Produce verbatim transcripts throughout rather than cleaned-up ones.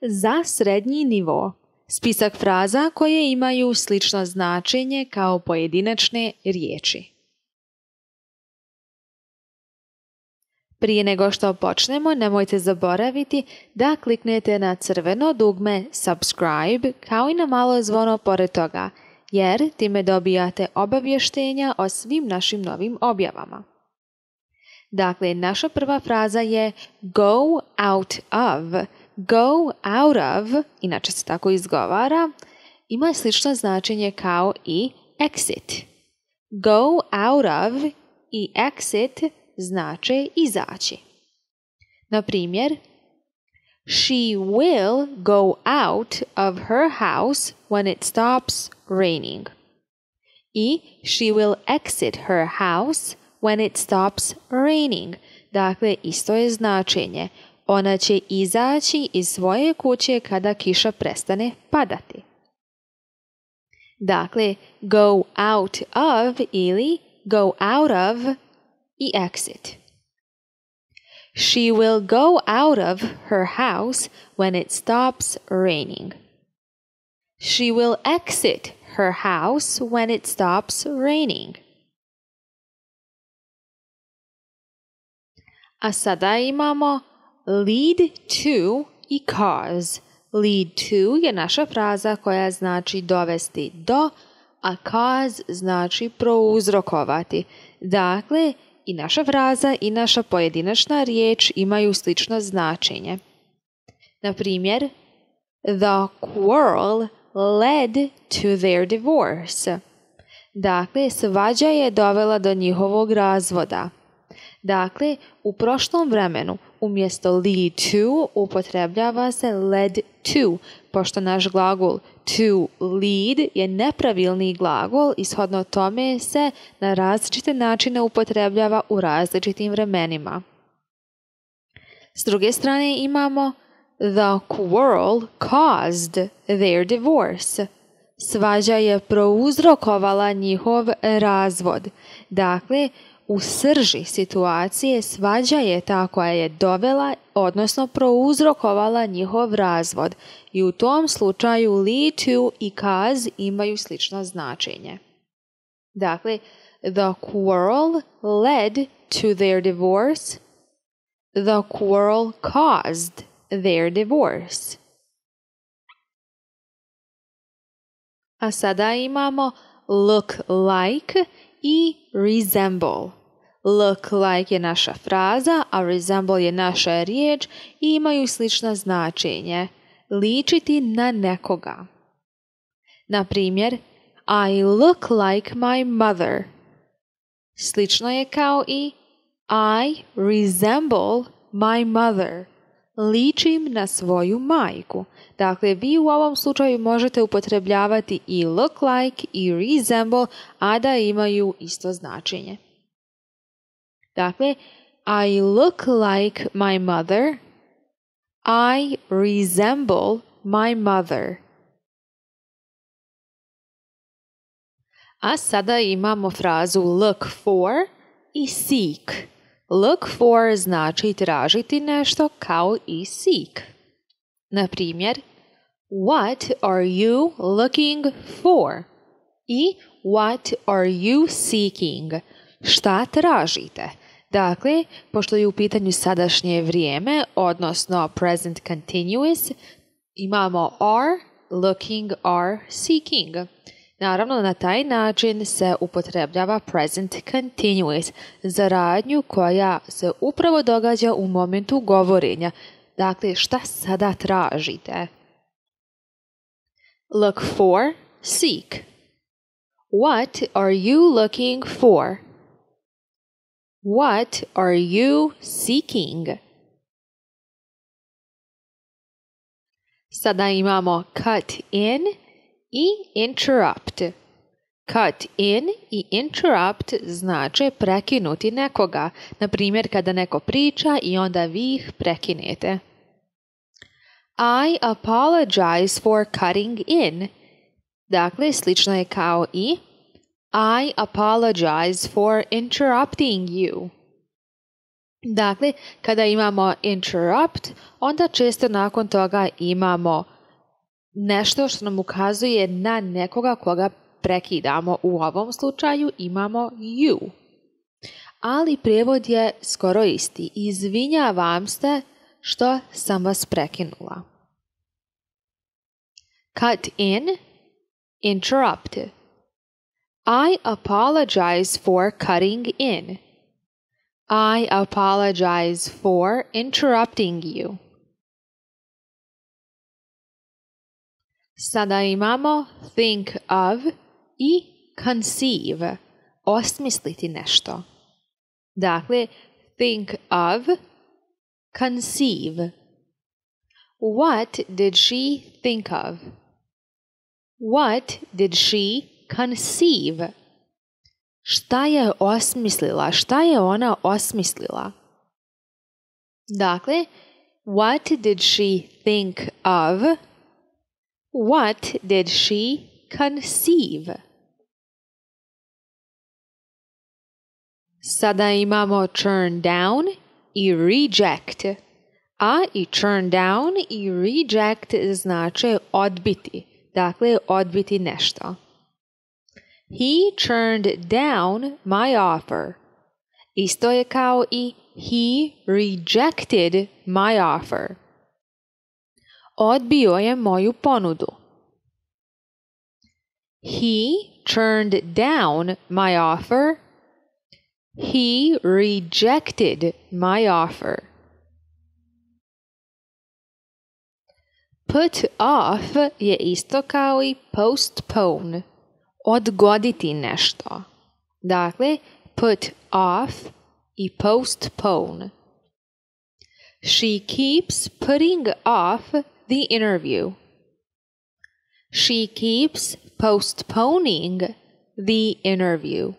Za srednji nivo. Spisak fraza koje imaju slično značenje kao pojedinačne riječi. Prije nego što počnemo, nemojte zaboraviti da kliknete na crveno dugme subscribe kao i na malo zvono pored toga, jer time dobijate obavještenja o svim našim novim objavama. Dakle, naša prva fraza je go out of. Go out of, inače se tako izgovara, ima slično značenje kao i exit. Go out of i exit znače izaći. Na primjer, she will go out of her house when it stops raining. I she will exit her house when it stops raining. Dakle, isto je značenje. Ona će izaći iz svoje kuće kada kiša prestane padati. Dakle, go out of ili go out of i exit. She will go out of her house when it stops raining. She will exit her house when it stops raining. A sada imamo lead to i cause. Lead to je naša fraza koja znači dovesti do, a cause znači prouzrokovati. Dakle, i naša fraza i naša pojedinačna riječ imaju slično značenje. Na primjer, the quarrel led to their divorce. Dakle, svađa je dovela do njihovog razvoda. Dakle, u prošlom vremenu umjesto lead to upotrebljava se led to, pošto naš glagol to lead je nepravilni glagol i shodno tome se na različite načine upotrebljava u različitim vremenima. S druge strane imamo the quarrel caused their divorce. Svađa je prouzrokovala njihov razvod. Dakle, u srži situacije svađa je ta koja je dovela, odnosno prouzrokovala njihov razvod i u tom slučaju lead to i cause imaju slično značenje. Dakle, the quarrel led to their divorce. The quarrel caused their divorce. A sada imamo look like i resemble. Look like je naša fraza, a resemble je naša riječ i imaju slično značenje. Ličiti na nekoga. Na primjer, I look like my mother. Slično je kao i I resemble my mother. Ličim na svoju majku. Dakle, vi u ovom slučaju možete upotrebljavati i look like i resemble, a da imaju isto značenje. Dakle, I look like my mother. I resemble my mother. A sada imamo frazu look for i seek. Look for znači tražiti nešto kao i seek. Na primjer, what are you looking for? I what are you seeking? Šta tražite? Dakle, pošto je u pitanju sadašnje vrijeme, odnosno present continuous, imamo are, looking, are, seeking. Naravno, na taj način se upotrebljava present continuous za radnju koja se upravo događa u momentu govorenja. Dakle, šta sada tražite? Look for, seek. What are you looking for? What are you seeking? Sada imamo cut in i interrupt. Cut in i interrupt znače prekinuti nekoga. Na primjer, kada neko priča i onda vi ih prekinete. I apologize for cutting in. Dakle, slično je kao i I apologize for interrupting you. Dakle, kada imamo interrupt, onda često nakon toga imamo nešto što nam ukazuje na nekoga koga prekidamo. U ovom slučaju imamo you. Ali prijevod je skoro isti. Izvinjavam se što sam vas prekinula. Cut in, interrupt. I apologize for cutting in. I apologize for interrupting you. Sada imamo think of i conceive. Osmisliti nešto. Dakle, think of, conceive. What did she think of? What did she conceive? Šta je osmislila? Šta je ona osmislila? Dakle, what did she think of? What did she conceive? Sada imamo turn down i reject. A i turn down i reject znače odbiti. Dakle, odbiti nešto. He turned down my offer. Isto je kao i he rejected my offer. Odbio je moju ponudu. He turned down my offer. He rejected my offer. Put off je isto kao i postpone. Odgoditi nešto. Dakle, put off i postpone. She keeps putting off the interview. She keeps postponing the interview.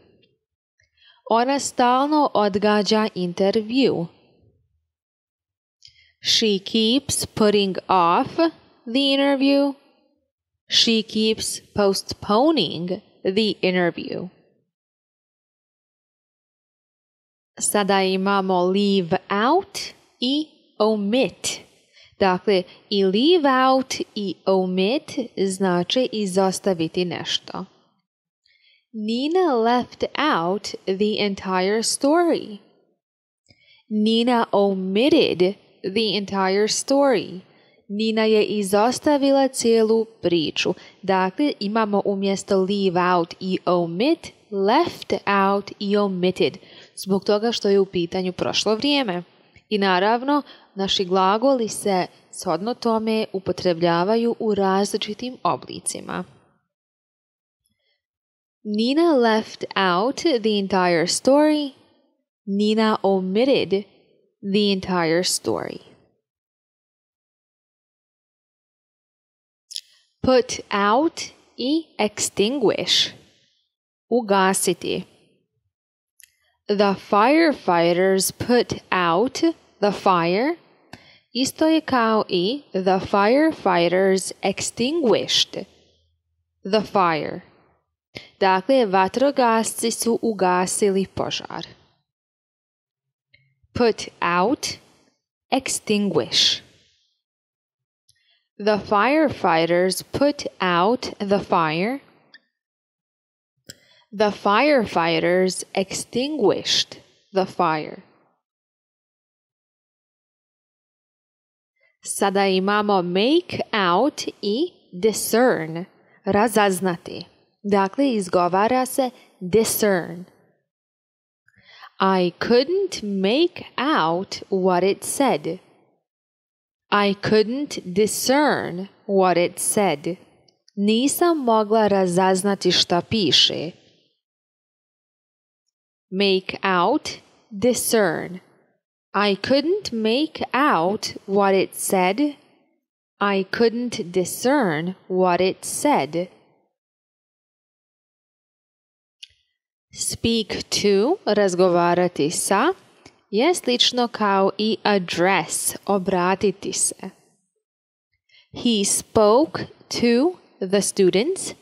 Ona stalno odgađa intervju. She keeps putting off the interview. She keeps postponing the interview. Sada imamo leave out i omit. Dakle, i leave out i omit znači izostaviti nešto. Nina left out the entire story. Nina omitted the entire story. Nina je izostavila cijelu priču. Dakle, imamo umjesto leave out i omit, left out i omitted, zbog toga što je u pitanju prošlo vrijeme. I naravno, naši glagoli se shodno tome upotrebljavaju u različitim oblicima. Nina left out the entire story. Nina omitted the entire story. Put out i extinguish. Ugasiti. The firefighters put out the fire. Isto je kao i the firefighters extinguished the fire. Dakle, vatrogasci su ugasili požar. Put out, extinguish. The firefighters put out the fire. The firefighters extinguished the fire. Sada imamo make out i discern, razaznati. Dakle, izgovara se discern. I couldn't make out what it said. I couldn't discern what it said. Nisam mogla razaznati šta piše. Make out, discern. I couldn't make out what it said. I couldn't discern what it said. Speak to, razgovarati sa, je slično kao i address, obratiti se. He spoke to the students.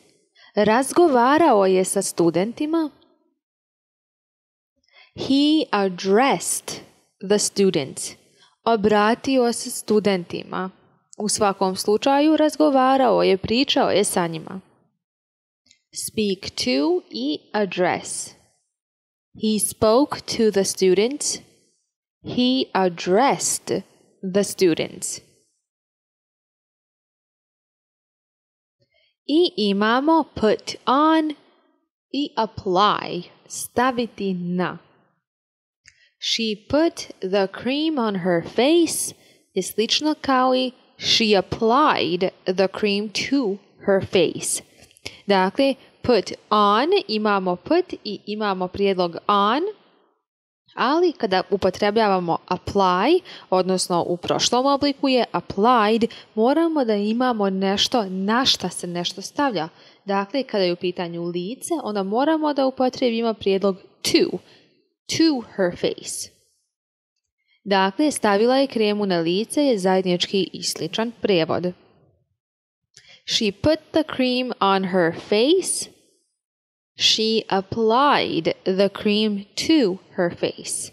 Razgovarao je sa studentima. He addressed the students. Obratio se studentima. U svakom slučaju razgovarao je, pričao je sa njima. Speak to i address. He spoke to the students. He addressed the students. I imamo put on i apply, staviti na. She put the cream on her face je slično kao i she applied the cream to her face. Dakle, put on, imamo put i imamo prijedlog on, ali kada upotrebljavamo apply, odnosno u prošlom obliku je applied, moramo da imamo nešto na šta se nešto stavlja. Dakle, kada je u pitanju lice, onda moramo da upotrebimo prijedlog to, to her face. Dakle, stavila je kremu na lice je zajednički i sličan prijevod. She put the cream on her face. She applied the cream to her face.